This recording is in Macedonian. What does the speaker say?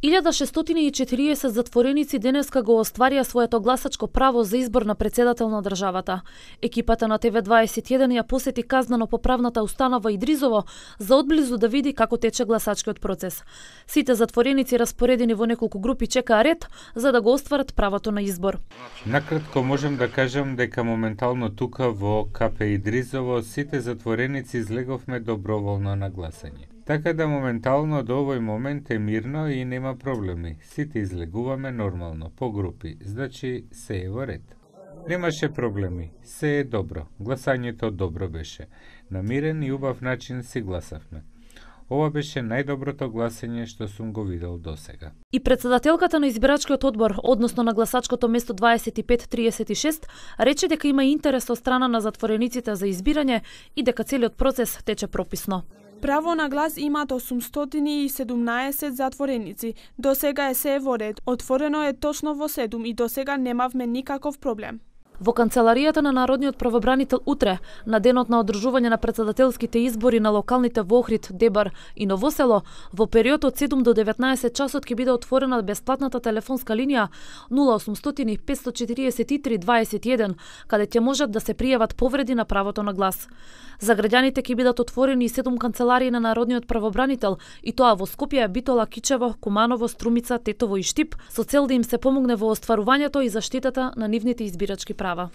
1640 затвореници денеска го остварија своето гласачко право за избор на председател на државата. Екипата на ТВ21 ја посети казнено-поправната установа Идризово за одблизу да види како тече гласачкиот процес. Сите затвореници распоредени во неколку групи чекаа ред за да го остварат правото на избор. Накратко можем да кажам дека моментално тука во КП Идризово сите затвореници излеговме доброволно на гласање. Така да моментално до овој момент е мирно и нема проблеми. Сите излегуваме нормално, по групи, значи се е во ред. Немаше проблеми, се е добро. Гласањето добро беше. На мирен и убав начин си гласавме. Ова беше најдоброто гласање што сум го видел досега. И председателката на избирачкиот одбор, односно на гласачкото место 2536, рече дека има интерес од страна на затворениците за избирање и дека целиот процес тече прописно. Право на глас имаат 817 затвореници. До сега е се во ред. Отворено е точно во 7 и до сега немавме никаков проблем. Во канцеларијата на Народниот правобранител утре, на денот на одржување на председателските избори на локалните во Охрид, Дебар и Новосело, во период од 7 до 19 часот ќе биде отворена бесплатната телефонска линија 0800 543 21, каде ќе можат да се пријават повреди на правото на глас. За граѓаните ќе бидат отворени и 7 канцеларии на Народниот правобранител, и тоа во Скопје, Битола, Кичево, Куманово, Струмица, Тетово и Штип, со цел да им се помогне во остварувањето и заштитата на нивните избирачки права.